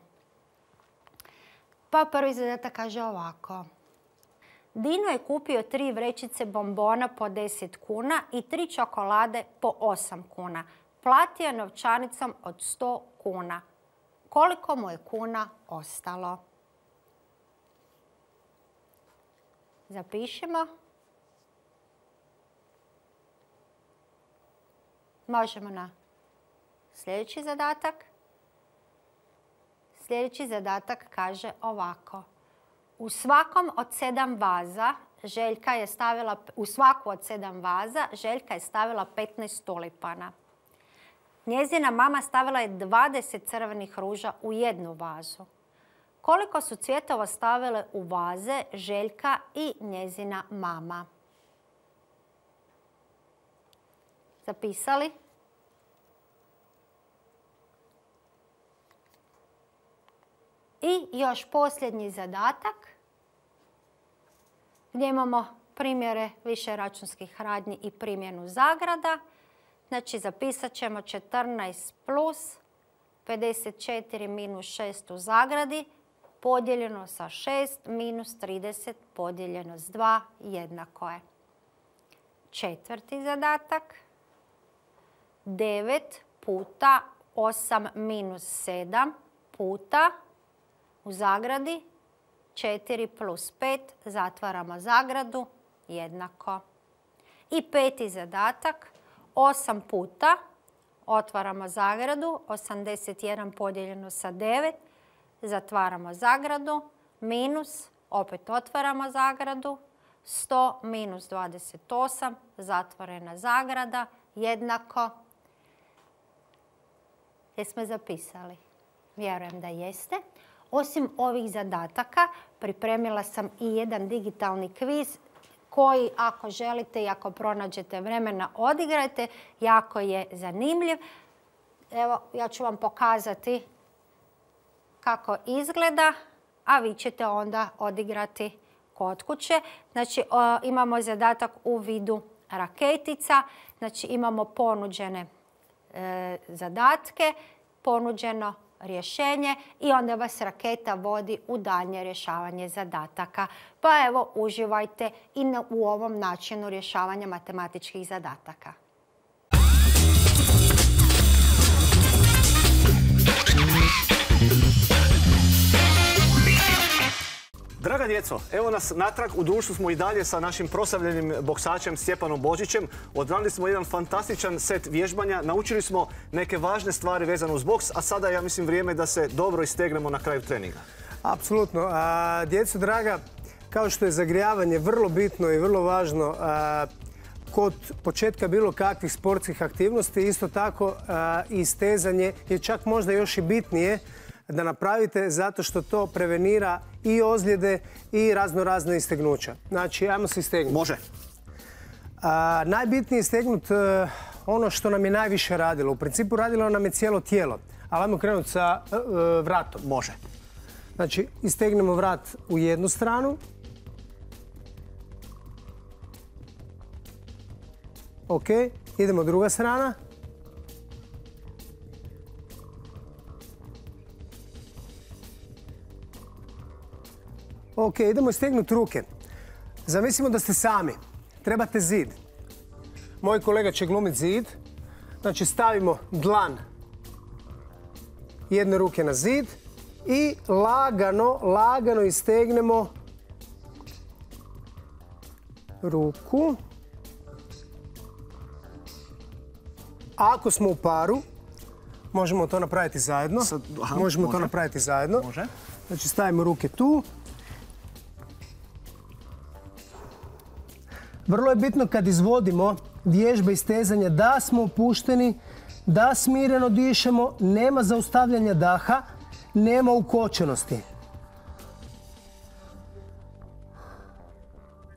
S2: Pa prvi zadatak kaže ovako. Dino je kupio tri vrećice bombona po deset kuna i tri čokolade po osam kuna. Platio novčanicom od sto kuna. Koliko mu je kuna ostalo? Zapišimo. Možemo na sljedeći zadatak. Sljedeći zadatak kaže ovako. U svakom od sedam vaza Željka je stavila, u svaku od sedam vaza Željka je stavila petnaest tulipana. Njezina mama stavila je dvadeset crvenih ruža u jednu vazu. Koliko su cvjetova stavile u vaze Željka i njezina mama? Zapisali? I još posljednji zadatak gdje imamo primjere više računskih radnji i primjenu zagrada. Znači zapisat ćemo četrnaest plus pedeset četiri minus šest u zagradi podijeljeno sa šest minus trideset podijeljeno s dva jednako je. Četvrti zadatak. devet puta osam minus sedam puta u zagradi četiri plus pet, zatvaramo zagradu, jednako. I peti zadatak, osam puta, otvaramo zagradu, osamdeset jedan podijeljeno sa devet, zatvaramo zagradu, minus, opet otvaramo zagradu, sto minus dvadeset osam, zatvorena zagrada, jednako. Jesmo zapisali? Vjerujem da jeste. Osim ovih zadataka, pripremila sam i jedan digitalni kviz koji, ako želite i ako pronađete vremena, odigrajte. Jako je zanimljiv. Evo, ja ću vam pokazati kako izgleda, a vi ćete onda odigrati kod kuće. Znači, imamo zadatak u vidu raketica. Znači, imamo ponuđene e, zadatke, ponuđeno rješenje i onda vas raketa vodi u daljnje rješavanje zadataka. Pa evo, uživajte i na, u ovom načinu rješavanja matematičkih zadataka.
S3: Draga djeco, evo nas natrag, u društvu smo i dalje sa našim proslavljenim boksačem Stjepanom Božićem. Odradili smo jedan fantastičan set vježbanja, naučili smo neke važne stvari vezane uz boks, a sada je, ja mislim, vrijeme da se dobro istegnemo na kraju treninga.
S4: Apsolutno. A, djeco draga, kao što je zagrijavanje vrlo bitno i vrlo važno a, kod početka bilo kakvih sportskih aktivnosti, isto tako a, i stezanje je čak možda još i bitnije da napravite, zato što to prevenira i ozljede i razno razne istegnuća. Znači, ajmo se istegnuti.
S3: Može.
S4: A, najbitnije je istegnuti uh, ono što nam je najviše radilo. U principu radilo nam je cijelo tijelo. Ali ajmo krenuti sa uh, vratom.
S3: Može.
S4: Znači, istegnemo vrat u jednu stranu. Ok, idemo druga strana. Ok, idemo istegnuti ruke. Zamislimo da ste sami. Trebate zid. Moj kolega će glumiti zid. Znači, stavimo dlan jedne ruke na zid i lagano, lagano istegnemo ruku. Ako smo u paru, možemo to napraviti zajedno.
S3: Sad, aha,
S4: možemo
S3: može.
S4: to napraviti zajedno.
S3: Može.
S4: Znači, stavimo ruke tu. Vrlo je bitno kad izvodimo vježbe istezanja da smo opušteni, da smireno dišemo, nema zaustavljanja daha, nema ukočenosti.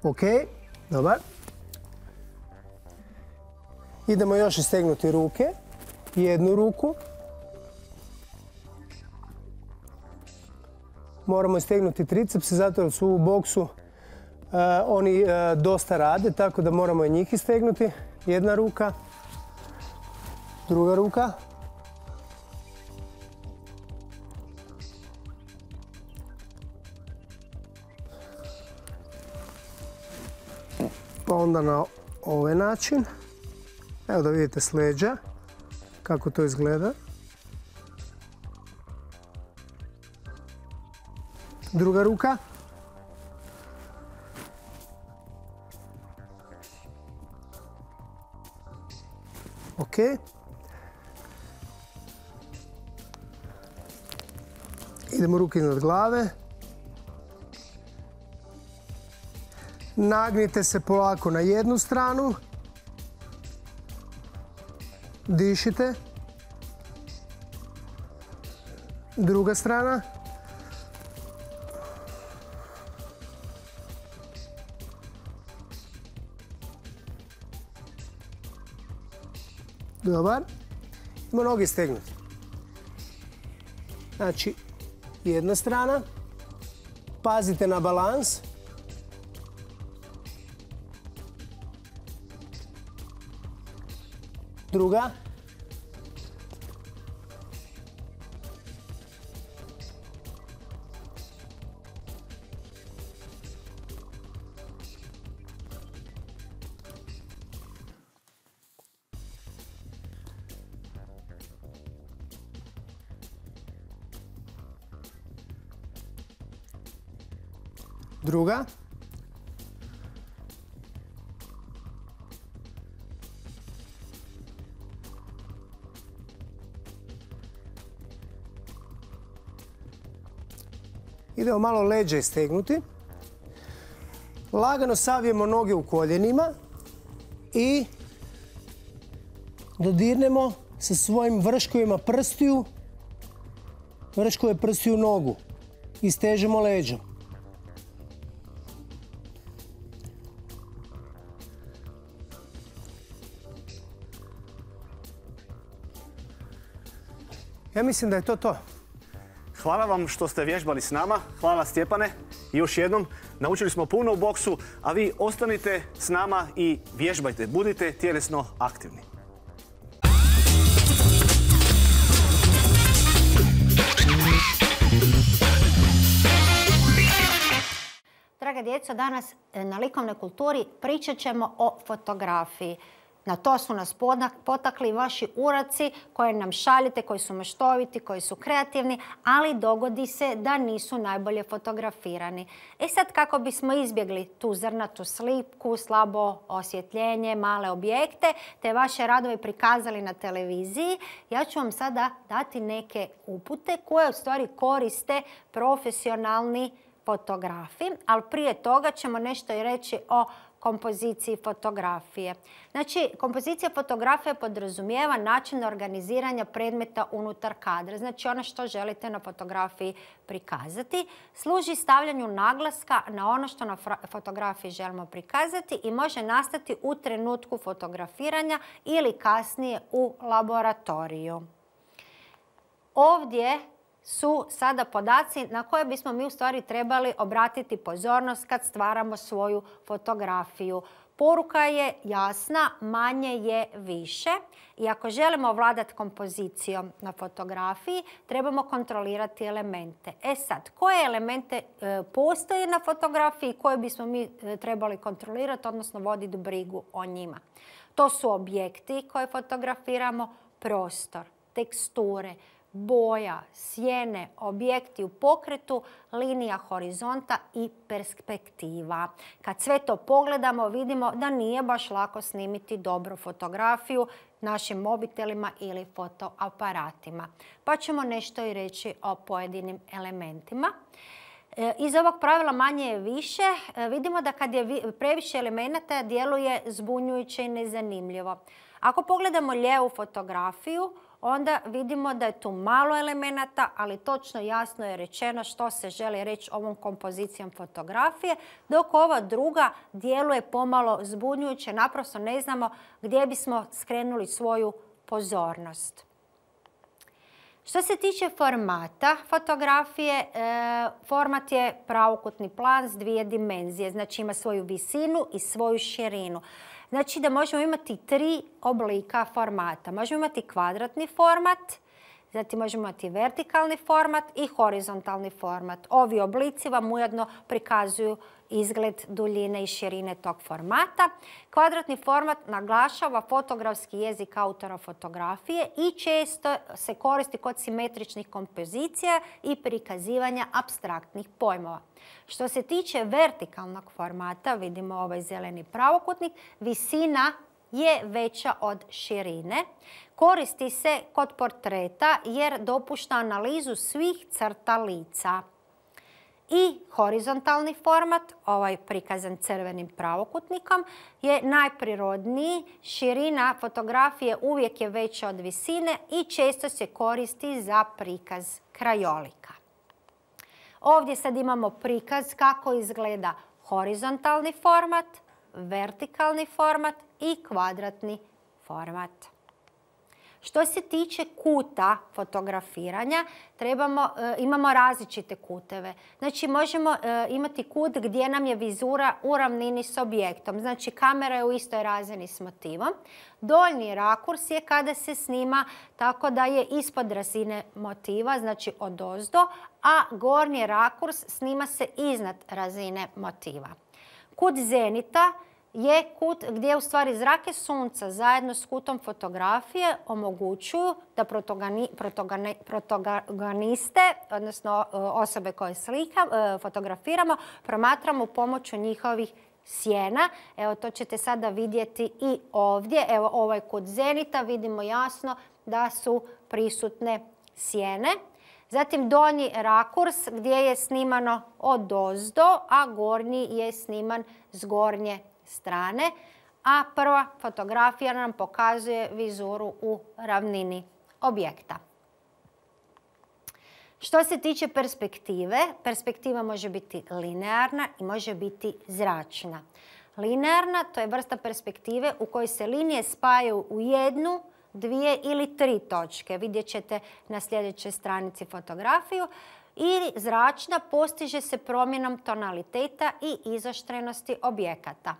S4: Ok, dobar. Idemo još istegnuti ruke, jednu ruku. Moramo istegnuti tricepse, zato jer su u boksu Uh, oni uh, dosta rade, tako da moramo i njih istegnuti. Jedna ruka, druga ruka. Pa onda na ovaj način. Evo da vidite s leđa kako to izgleda. Druga ruka. Ok. Idemo ruke iznad glave. Nagnite se polako na jednu stranu. Dišite. Druga strana. Dobar. Idemo noge stegnuti. Znači, jedna strana. Pazite na balans. Druga. Druga. Idemo malo leđa istegnuti. Lagano savijemo noge u koljenima i dodirnemo sa svojim vrškovima prstiju, vrškove prstiju nogu. Istežemo leđa. Ja mislim da je to to.
S3: Hvala vam što ste vježbali s nama. Hvala Stjepane. I još jednom, naučili smo puno u boksu, a vi ostanite s nama i vježbajte. Budite tjelesno aktivni.
S2: Draga djeco, danas na likovnoj kulturi pričat ćemo o fotografiji. Na to su nas potakli vaši uraci koje nam šaljete, koji su maštoviti, koji su kreativni, ali dogodi se da nisu najbolje fotografirani. E sad, kako bismo izbjegli tu zrnatu sliku, slabo osvjetljenje, male objekte, te vaše radove prikazali na televiziji, ja ću vam sada dati neke upute koje u stvari koriste profesionalni fotografi, ali prije toga ćemo nešto i reći o kompoziciji fotografije. Znači, kompozicija fotografije podrazumijeva način organiziranja predmeta unutar kadra. Znači, ono što želite na fotografiji prikazati služi stavljanju naglaska na ono što na fotografiji želimo prikazati i može nastati u trenutku fotografiranja ili kasnije u laboratoriju. Ovdje su sada podaci na koje bismo mi u stvari trebali obratiti pozornost kad stvaramo svoju fotografiju. Poruka je jasna, manje je više i ako želimo ovladati kompozicijom na fotografiji, trebamo kontrolirati elemente. E sad, koje elemente e, postoje na fotografiji koje bismo mi e, trebali kontrolirati, odnosno voditi brigu o njima? To su objekti koje fotografiramo, prostor, teksture, boja, sjene, objekti u pokretu, linija horizonta i perspektiva. Kad sve to pogledamo, vidimo da nije baš lako snimiti dobru fotografiju našim mobitelima ili fotoaparatima. Pa ćemo nešto i reći o pojedinim elementima. Iz ovog pravila manje je više, vidimo da kad je previše elemenata djeluje zbunjujuće i nezanimljivo. Ako pogledamo lijevu fotografiju, onda vidimo da je tu malo elemenata, ali točno jasno je rečeno što se želi reći ovom kompozicijom fotografije, dok ova druga djeluje pomalo zbunjujuće, naprosto ne znamo gdje bismo skrenuli svoju pozornost. Što se tiče formata fotografije, format je pravokutni plan s dvije dimenzije, znači ima svoju visinu i svoju širinu. Znači da možemo imati tri oblika formata. Možemo imati kvadratni format, zatim možemo imati vertikalni format i horizontalni format. Ovi oblici vam ujedno prikazuju izgled duljine i širine tog formata. Kvadratni format naglašava fotografski jezik autora fotografije i često se koristi kod simetričnih kompozicija i prikazivanja apstraktnih pojmova. Što se tiče vertikalnog formata, vidimo ovaj zeleni pravokutnik, visina je veća od širine. Koristi se kod portreta jer dopušta analizu svih crta lica. I horizontalni format, ovaj prikazan crvenim pravokutnikom, je najprirodniji. Širina fotografije uvijek je veća od visine i često se koristi za prikaz krajolika. Ovdje sad imamo prikaz kako izgleda horizontalni format, vertikalni format i kvadratni format. Što se tiče kuta fotografiranja, trebamo, e, imamo različite kuteve. Znači možemo e, imati kut gdje nam je vizura u ravnini s objektom. Znači kamera je u istoj razini s motivom. Donji rakurs je kada se snima tako da je ispod razine motiva, znači odozdo, a gornji rakurs snima se iznad razine motiva. Kut zenita je kut gdje u stvari zrake sunca zajedno s kutom fotografije omogućuju da protogani, protogani, protagoniste, odnosno osobe koje slika, fotografiramo, promatramo pomoću njihovih sjena. Evo, to ćete sada vidjeti i ovdje. Evo, ovaj kut zenita, vidimo jasno da su prisutne sjene. Zatim donji rakurs gdje je snimano odozdo, a gornji je sniman s gornje strane. A prva fotografija nam pokazuje vizuru u ravnini objekta. Što se tiče perspektive, perspektiva može biti linearna i može biti zračna. Linearna, to je vrsta perspektive u kojoj se linije spajaju u jednu, dvije ili tri točke. Vidjet ćete na sljedećoj stranici fotografiju. I zračna postiže se promjenom tonaliteta i izoštrenosti objekata,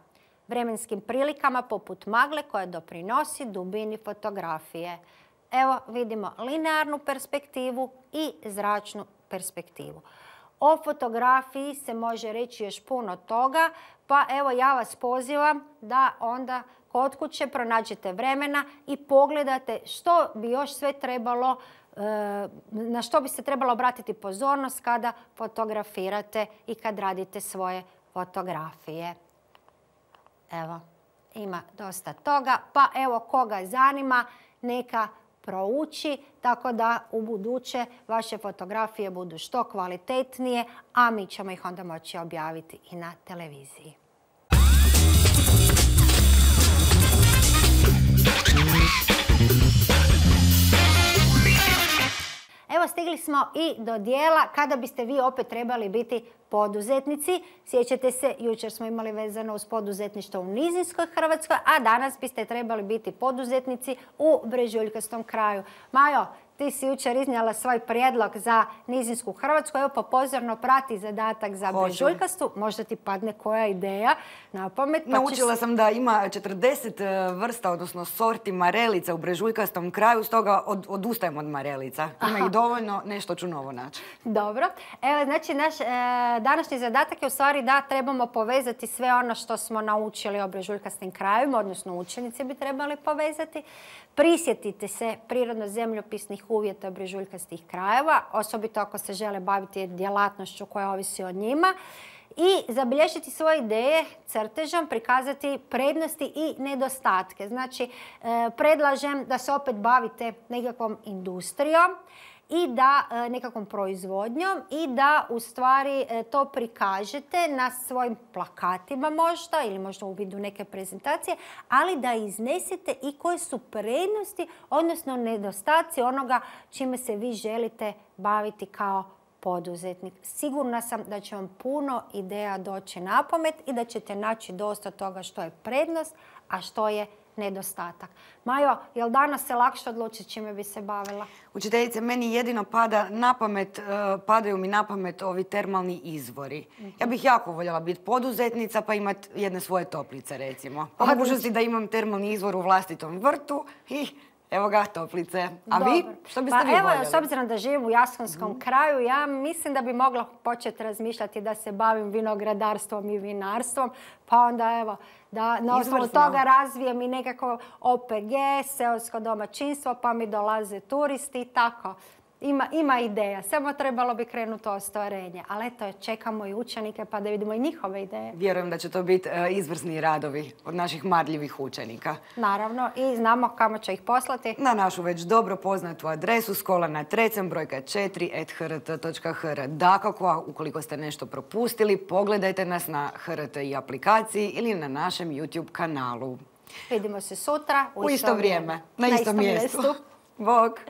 S2: vremenskim prilikama poput magle koja doprinosi dubini fotografije. Evo vidimo linearnu perspektivu i zračnu perspektivu. O fotografiji se može reći još puno toga, pa evo ja vas pozivam da onda kod kuće pronađete vremena i pogledate što bi još sve trebalo, na što bi se trebalo obratiti pozornost kada fotografirate i kad radite svoje fotografije. Evo, ima dosta toga, pa evo koga zanima neka prouči, tako da u buduće vaše fotografije budu što kvalitetnije, a mi ćemo ih onda moći objaviti i na televiziji. Evo, stigli smo i do dijela kada biste vi opet trebali biti poduzetnici. Sjećate se, jučer smo imali vezano uz poduzetništvo u nizinskoj Hrvatskoj, a danas biste trebali biti poduzetnici u brežuljkastom kraju. Majo, ti si jučer iznijela svoj prijedlog za nizinsku Hrvatsku. Evo, pa pozorno prati zadatak za brežuljkastu. Možda ti padne koja ideja na pamet.
S1: Naučila sam da ima četrdeset vrsta, odnosno sorti marelica u brežuljkastom kraju, stoga odustajem od marelica. Ima ih dovoljno, nešto ću novo naći.
S2: Dobro. Evo, znači, naš današnji zadatak je u stvari da trebamo povezati sve ono što smo naučili o brežuljkastim krajevima, odnosno učenici bi trebali povezati. Prisjetite se prirodno-zemljopisnih uvjeta brežuljkastih krajeva, osobito ako se žele baviti djelatnošću koja ovisi o njima. I zabilježiti svoje ideje crtežom, prikazati prednosti i nedostatke. Znači, predlažem da se opet bavite nekakvom industrijom i da nekakvom proizvodnjom i da u stvari to prikažete na svojim plakatima možda ili možda u vidu neke prezentacije, ali da iznesete i koje su prednosti, odnosno nedostaci onoga čime se vi želite baviti kao poduzetnik. Sigurna sam da će vam puno ideja doći na pamet i da ćete naći dosta toga što je prednost, a što je nedostatak. Majo, je li danas se lakše odlučiti čime bi se bavila?
S1: Učiteljice, meni jedino pada na pamet, padaju mi na pamet ovi termalni izvori. Ja bih jako voljela biti poduzetnica pa imati jedne svoje toplice, recimo. Po mogućnosti da imam termalni izvor u vlastitom vrtu i evo ga, toplice. A vi? Što biste vi voljeli?
S2: Evo, s obzirom da živim u Jaskonskom kraju, ja mislim da bi mogla početi razmišljati da se bavim vinogradarstvom i vinarstvom, pa onda evo, da na osnovu toga razvijem i nekako O P G, seosko domaćinstvo, pa mi dolaze turisti i tako. Ima, ima ideja, samo trebalo bi krenuti u ostvarenje. Ali eto, čekamo i učenike pa da vidimo i njihove ideje.
S1: Vjerujem da će to biti izvrsni radovi od naših marljivih učenika.
S2: Naravno, i znamo kamo će ih poslati.
S1: Na našu već dobro poznatu adresu Škola na Trecem, brojka četiri et h r t točka h r. Dakako, ukoliko ste nešto propustili, pogledajte nas na H R T i aplikaciji ili na našem YouTube kanalu.
S2: Vidimo se sutra
S1: u isto vrijeme, na istom mjestu. Bog!